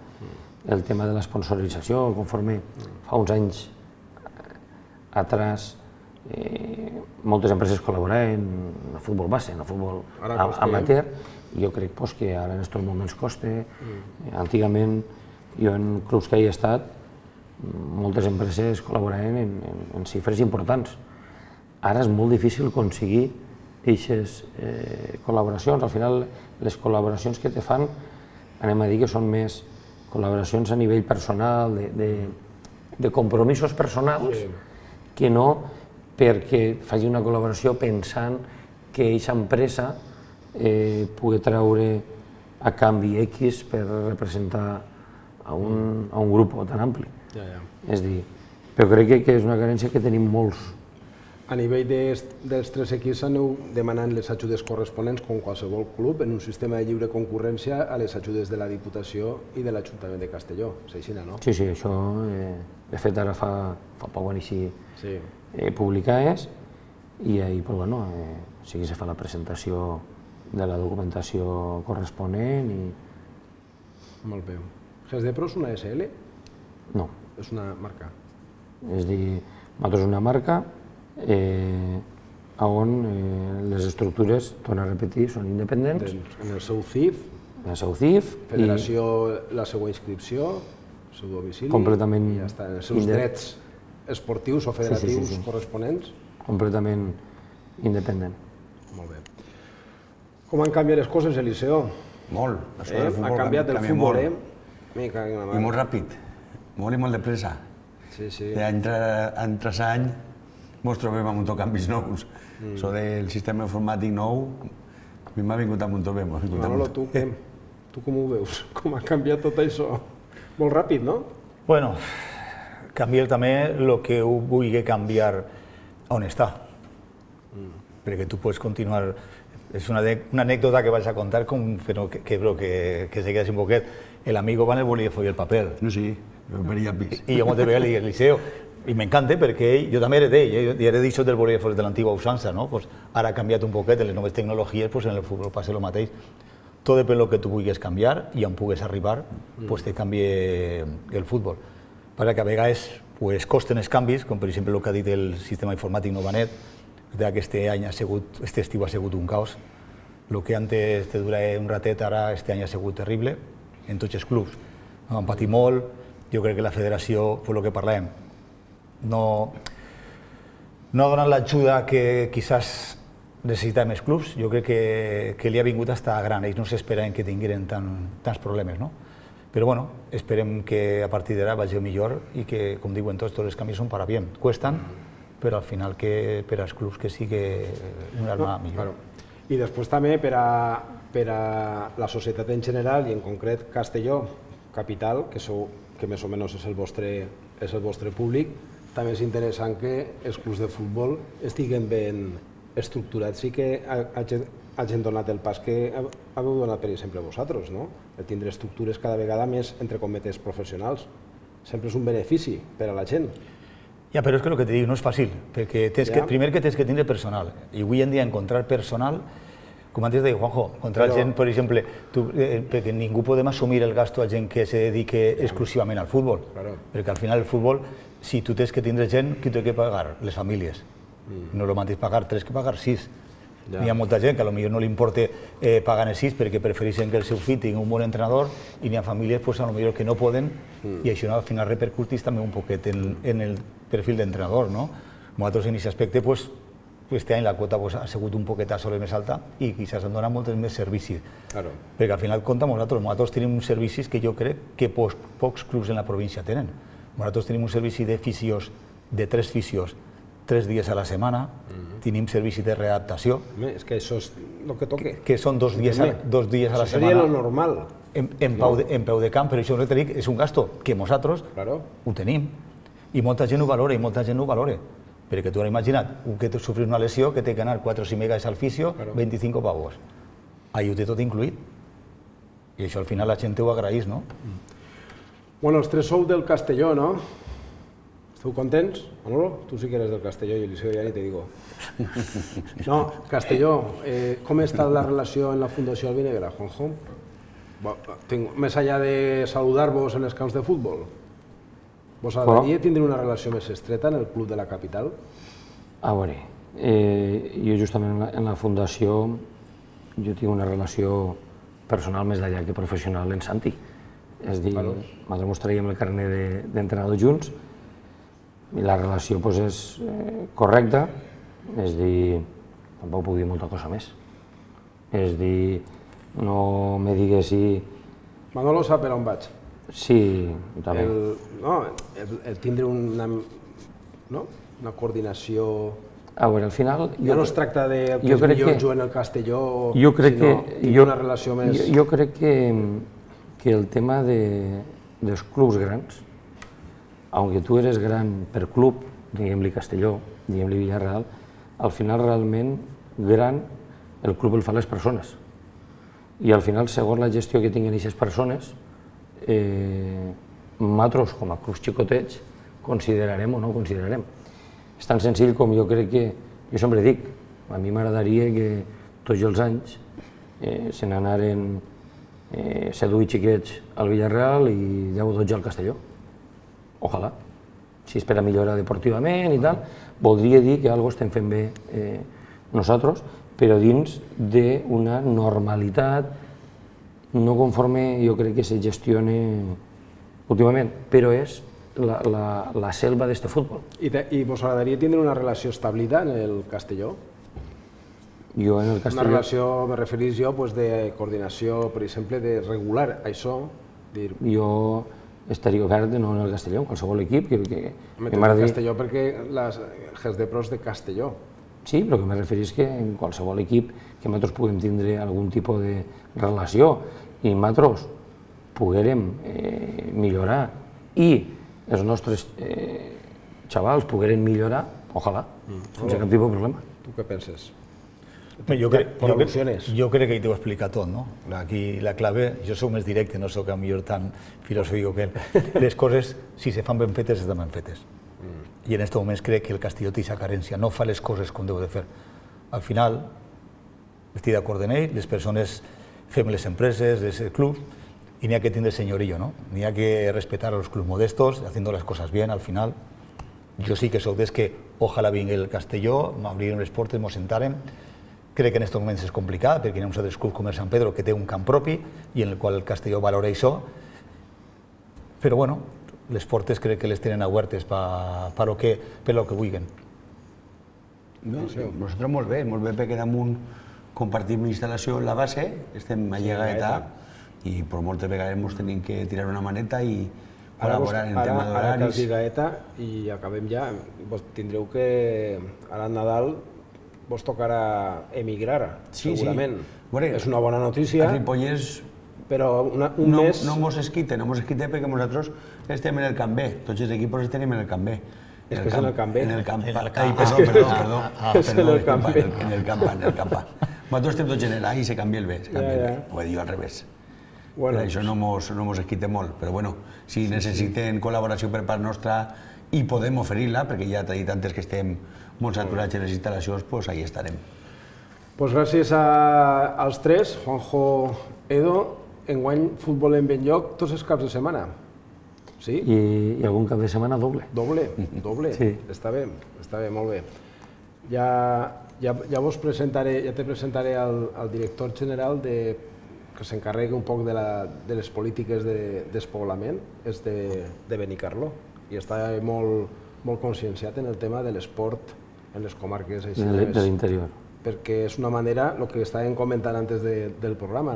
el tema de l'esponsorització, conforme fa uns anys atrás moltes empreses col·laboraven en el futbol base, en el futbol amateur, i jo crec que ara en aquests moments costa. Antigament, jo en clubs que hi he estat, moltes empreses col·laboraven en xifres importants. Ara és molt difícil aconseguir aquestes col·laboracions. Al final, les col·laboracions que te fan, anem a dir que són més col·laboracions a nivell personal, de compromisos personals, que no perquè faci una col·laboració pensant que aquesta empresa pugui treure a canvi X per representar a un grup tan ampli. És a dir, però crec que és una carència que tenim molts. A nivell dels 3 equips aneu demanant les ajudes corresponents, com qualsevol club, en un sistema de lliure concurrència a les ajudes de la Diputació i de l'Ajuntament de Castelló. És així, no? Sí, això, de fet, ara fa poc van així publicades i ahir, sí que se fa la presentació de la documentació corresponent i... Molt bé. Gesdepro és una SL? No. És una marca? És a dir, nosaltres és una marca on les estructures, torno a repetir, són independents. En el seu CIF? En el seu CIF. Federació, la seva inscripció, el seu domicili... Completament... I ja està, els seus drets esportius o federatius corresponents? Completament independent. Molt bé. Com han canviat les coses, Eliseo? Molt. Ha canviat el futbol, I molt ràpid, molt i molt de pressa. Any tras any ens trobem amb canvis nous. Això del sistema informàtic nou, a mi m'ha vingut a muntó bé. Manolo, tu com ho veus? Com ha canviat tot això? Molt ràpid, no? Bueno, canviar també el que vulgui canviar on està. Perquè tu pots continuar... És una anècdota que vaig a contar, però que se queda sin poquet. El amigo va en el bolígrafo y el papel. Sí, lo vería pis. Y yo me veía el liceo. Y me encanta porque yo también heredé, yo he dicho del bolígrafo de la antigua usança, ¿no? Pues ara ha canviat un poquet, en les noves tecnologies, pues en el futbol passa el mateix. Tot depèn del que tu vulguis canviar i on pugues arribar, pues te canvie el futbol. Perquè a vegades pues, costen els canvis, com per exemple el que ha dit el sistema informàtic Novanet, Este estiu ha sigut un caos. El que antes te durava un ratet, ara este any ha sigut terrible en tots els clubs. Han patit molt, jo crec que la federació, per el que parlem, no ha donat l'ajuda que quizás necessitaven els clubs. Jo crec que li ha vingut hasta gran, ells no s'esperaven que tingueren tants problemes, no? Però bueno, esperem que a partir d'ara vagi millor i que, com diuen tots els canvis són para bien. Cuestan, però al final que per als clubs que sigui un arma millor. I després també per a la societat en general i en concret Castelló Capital, que més o menys és el vostre públic, també és interessant que els clubs de futbol estiguen ben estructurats i que hagin donat el pas que haveu donat, per exemple, vosaltres, no? El tindre estructures cada vegada més, entre cometes, professionals. Sempre és un benefici per a la gent. Ja, però és que el que te dic no és fàcil, perquè primer que tens que tindre personal, i avui en dia encontrar personal, com antes deia Juanjo, encontrar gent, per exemple, perquè ningú podem assumir el gasto a gent que se dedique exclusivament al futbol, perquè al final el futbol, si tu tens que tindre gent, qui t'ho ha de pagar? Les famílies. No és el mateix pagar 3 que pagar 6. Hi ha molta gent que potser no li importa pagar els 6 perquè prefereixen que el seu fill tingui un bon entrenador i n'hi ha famílies potser que no poden i això al final repercuteix també un poquet en el perfil d'entrenador. Nosaltres en aquest aspecte, aquest any la quota ha sigut un poquet a soles més alta i quizás han donat molts més servicis. Perquè al final compta nosaltres tenim uns servicis que jo crec que pocs clubs en la província tenen. Nosaltres tenim un servici de fisios, de 3 fisios, 3 dies a la setmana, tenim servici de readaptació. És que això és el que toca. Que són 2 dies a la setmana. Això seria el normal. En peu de camp, però això és un gasto que nosaltres ho tenim. I molta gent ho valora, perquè tu has imaginat, un que sofrir una lesió, que té que anar 4 o 5 vegades al fisio, 25 pavos. Ahí ho té tot incluït. I això al final la gent ho agraeix, no? Bueno, els 3 sou del Castelló, no? Esteu contents? Manolo, tu sí que eres del Castelló i Eliseo ja ni te digo. No, Castelló, com està la relació en la Fundació Albinegra, Juanjo? Més allà de saludar-vos en els camps de futbol, vos agradaria tindre una relació més estreta en el club de la capital? A veure, jo justament en la Fundació jo tinc una relació personal més d'allà que professional en Santi. És a dir, nosaltres mos traiem el carnet d'entrenador junts i la relació és correcta, és a dir, tampoc puc dir molta cosa més. És a dir, no me digues si... Manolo sap per on vaig. Sí, també. El tindre una coordinació... A veure, al final... Ja no es tracta de que els millors juguen al Castelló, sinó tindre una relació més... Jo crec que el tema dels clubs grans, aunque tu eres gran per club, diguem-li Castelló, diguem-li Villarreal, al final realment gran el club el fan les persones. I al final, segons la gestió que tinguin aquestes persones, nosaltres, com a clubs xicotets, considerarem o no considerarem. És tan senzill com jo crec que, jo sempre dic, a mi m'agradaria que tots els anys se n'anaren 7 o 8 xiquets al Villarreal i 10 o 12 al Castelló. Ojalà. Si és per a millorar deportivament i tal, voldria dir que alguna cosa estem fent bé nosaltres, però dins d'una normalitat no conforme jo crec que se gestiona últimament, però és la selva d'este futbol. I vos agradaria tindre una relació establida en el Castelló? Jo en el Castelló... Una relació, me referís jo, de coordinació, per exemple, de regular això? Jo estaria obert no en el Castelló, en qualsevol equip que m'agradaria... Castelló perquè els de pros de Castelló. Sí, però que me referís que en qualsevol equip que nosaltres puguem tindre algun tipus de relació i nosaltres poguérem millorar i els nostres xavals pogueren millorar, ojalà, sense cap tipus de problema. Tu què penses? Jo crec que hi t'ho he explicat tot, no? Aquí la clave, jo soc més directe, no soc a millor tan filosòfic que ell. Les coses, si se fan ben fetes, estan ben fetes. I en aquest moment crec que el Castelló té aquesta carència, no fa les coses com deu de fer. Al final, estic d'acord amb ell, les persones fem les empreses, els clubs, i n'hi ha que tindre senyorillo, ¿no? N'hi ha que respetar a los clubs modestos, haciendo las cosas bien al final, Jo sí que soc des que ojalà vingui el Castelló, m'obrirem les portes, ens sentarem. Crec que en aquests moments és complicat perquè hi ha uns altres clubs com el Sant Pedro que té un camp propi i en el qual el Castelló valora això. Però bueno, les portes crec que les tenen obertes per lo que vulguin. Nosaltres molt bé perquè damunt compartim instal·lació en la base, estem a Llegaeta i per moltes vegades ens tenim que tirar una maneta i col·laborar en tema d'horaris. Ara que has dit Gaeta i acabem ja, vos tindreu que ara al Nadal vos tocarà emigrar, segurament. És una bona notícia. A Ripollès però un mes... No mos esquite perquè nosaltres estem en el Camp B, tots els equips estem en el Camp B. És que és en el Camp B. En el Camp B. Perdó. És en el Camp B. En el Camp A. Nosaltres estem tots en el A i se canvia el B, ho he dit al revés. Per això no mos esquite molt, però bueno, si necessiten col·laboració per part nostra i podem oferir-la, perquè ja t'he dit antes que estem molt saturats en les instal·lacions, doncs ahí estarem. Doncs gràcies als tres, Juanjo, Edo, enguany futbol en ben lloc tots els caps de setmana. Sí? I algun cap de setmana doble. Doble? Sí. Està bé, molt bé. Ja vos presentaré, ja te presentaré al director general que s'encarregui un poc de les polítiques de despoblament, és de Benicarló, i està molt conscienciat en el tema de l'esport en les comarques de l'interior. Perquè és una manera, el que estàvem comentant antes del programa,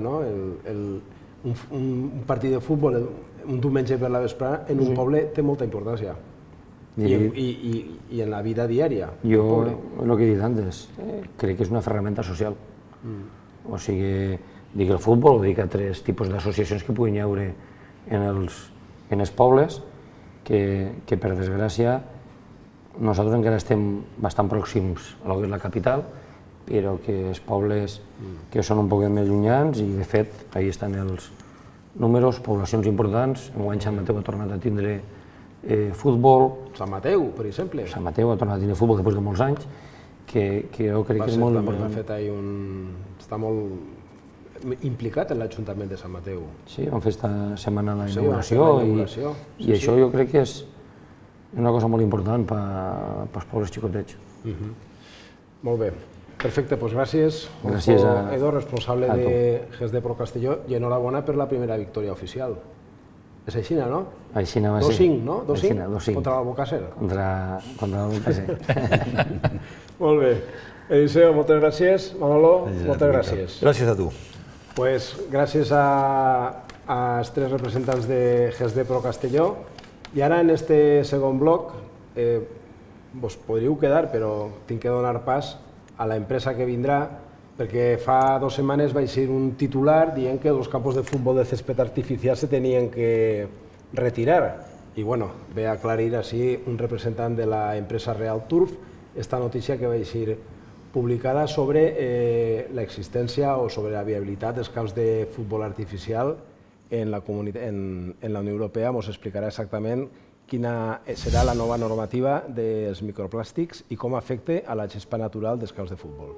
un partit de futbol un diumenge per la vesprada en un poble té molta importància i en la vida diària. Jo, el que he dit antes, crec que és una ferramenta social. O sigui, dic el futbol o dic altres tipus d'associacions que puguin hi haure en els pobles que per desgràcia nosaltres encara estem bastant pròxims a lo que és la capital, però que els pobles que són un poc més llunyans i de fet ahí estan els números, poblacions importants. Enguany Sant Mateu ha tornat a tindre futbol. Sant Mateu, per exemple. Sant Mateu ha tornat a tindre futbol després de molts anys, que jo crec que és molt important. Està molt implicat en l'Ajuntament de Sant Mateu. Sí, vam fer esta setmana la inauguració i això jo crec que és una cosa molt important pels pobles xicotets. Molt bé. Perfecte, doncs gràcies. Gràcies a Edo, responsable de GESD Pro Castelló, i enhorabona per la primera victòria oficial. És aixina, no? Aixina va ser. 2-5, no? 2-5. Contra l'Albocàsser. Contra l'Albocàsser. Molt bé. Eliseo, moltes gràcies. Manolo, moltes gràcies. Gràcies a tu. Pues gràcies als tres representants de GESD Pro Castelló. I ara, en este segon bloc, vos podríeu quedar, però tinc que donar pas a l'empresa que vindrà, perquè fa 2 setmanes vaig ser un titular dient que els campos de futbol de césped artificial se tenien que retirar. I bueno, ve a aclarir així un representant de l'empresa Real Turf esta notícia que vaig ser publicada sobre l'existència o sobre la viabilitat dels camps de futbol artificial en la Unió Europea. Ens explicarà exactament quina serà la nova normativa dels microplàstics i com afecta a la gespa natural dels camps de futbol.